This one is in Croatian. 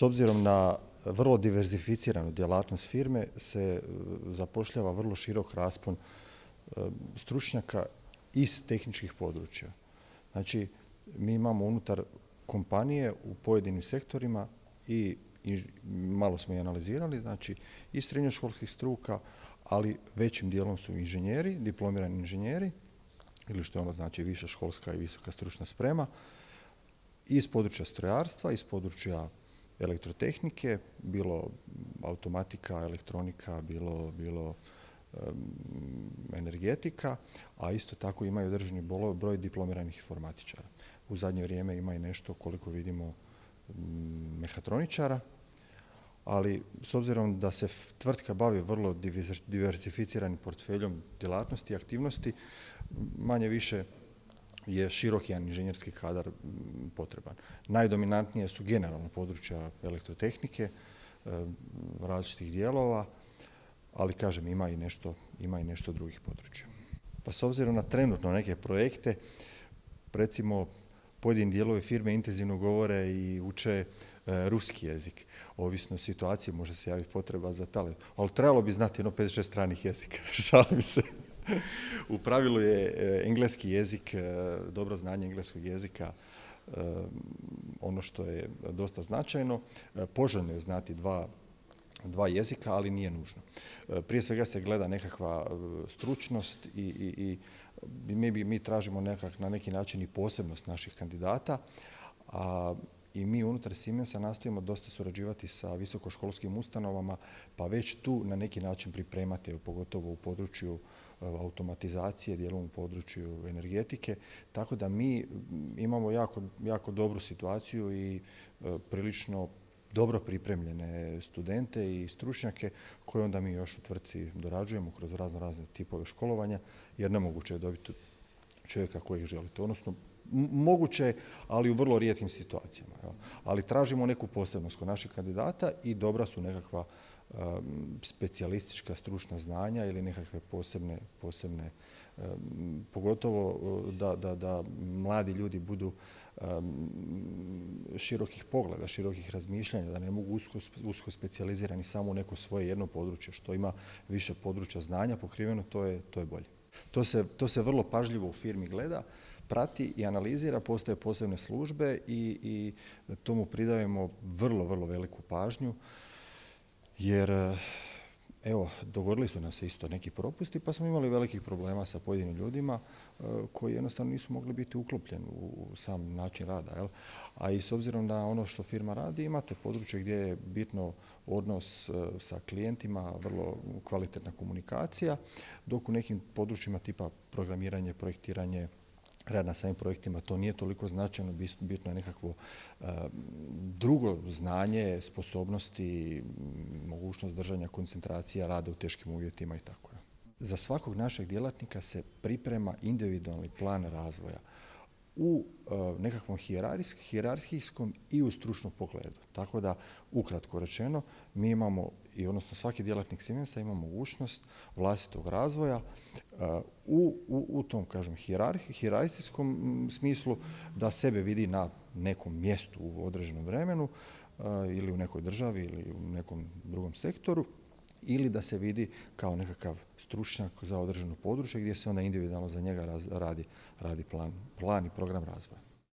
S obzirom na vrlo diverzificiranu djelatnost firme se zapošljava vrlo širok raspon stručnjaka iz tehničkih područja. Znači, mi imamo unutar kompanije u pojedinim sektorima i malo smo i analizirali, znači i srednjoškolskih struka, ali većim dijelom su inženjeri, diplomirani inženjeri, ili što je ono znači viša školska i visoka stručna sprema, iz područja strojarstva, iz područja elektrotehnike, bilo automatika, elektronika, bilo energetika, a isto tako imaju određeni broj diplomiranih informatičara. U zadnje vrijeme ima i nešto, koliko vidimo, mehatroničara, ali s obzirom da se tvrtka bavi vrlo diversificiranim portfeljom djelatnosti i aktivnosti, manje više je širok jedan inženjerski kadar potreban. Najdominantnije su generalno područja elektrotehnike, različitih dijelova, ali kažem ima i nešto drugih područja. Pa s obzirom na trenutno neke projekte, recimo pojedini dijelovi firme intenzivno govore i uče ruski jezik. Ovisno o situaciji može se javiti potreba za talent. Ali trebalo bi znati 5-6 stranih jezika, šalim se. U pravilu je engleski jezik, dobro znanje engleskog jezika, ono što je dosta značajno. Poželjno je znati dva jezika, ali nije nužno. Prije svega se gleda nekakva stručnost i mi tražimo na neki način i posebnost naših kandidata, i mi unutar Siemensa nastojimo dosta surađivati sa visokoškolskim ustanovama, pa već tu na neki način pripremate, pogotovo u području automatizacije, dijelom u području energetike, tako da mi imamo jako dobru situaciju i prilično dobro pripremljene studente i stručnjake koje onda mi još u tvrtci dorađujemo kroz razne tipove školovanja, jer nemoguće je dobiti čovjeka kojeg želite. Odnosno, moguće je, ali u vrlo rijetkim situacijama. Ali tražimo neku posebnost kod naših kandidata i dobra su nekakva specijalistička stručna znanja ili nekakve posebne pogotovo da mladi ljudi budu širokih pogleda, širokih razmišljanja, da ne mogu usko specijalizirani samo u neko svoje jedno područje, što ima više područja znanja pokriveno, to je bolje. To se vrlo pažljivo u firmi gleda, prati i analizira, postoje posebne službe i tomu pridajemo vrlo veliku pažnju, jer evo, dogodili su nam se isto neki propusti, pa smo imali velikih problema sa pojedinim ljudima koji jednostavno nisu mogli biti uklopljeni u sam način rada. A i s obzirom na ono što firma radi, imate područje gdje je bitno odnos sa klijentima, vrlo kvalitetna komunikacija, dok u nekim područjima tipa programiranje, projektiranje, rad na samim projektima, to nije toliko značajno, bitno je nekakvo drugo znanje, sposobnosti, mogućnost držanja koncentracija, rada u teškim uvjetima i tako. Za svakog našeg djelatnika se priprema individualni plan razvoja u nekakvom hijerarhijskom i u stručnom pogledu. Tako da, ukratko rečeno, mi imamo, odnosno svaki djelatnik Siemensa ima mogućnost vlastitog razvoja u tom, kažem, hijerarhijskom smislu, da sebe vidi na nekom mjestu u određenom vremenu ili u nekoj državi ili u nekom drugom sektoru, ili da se vidi kao nekakav stručnjak za određeno područje gdje se onda individualno za njega radi plan i program razvoja.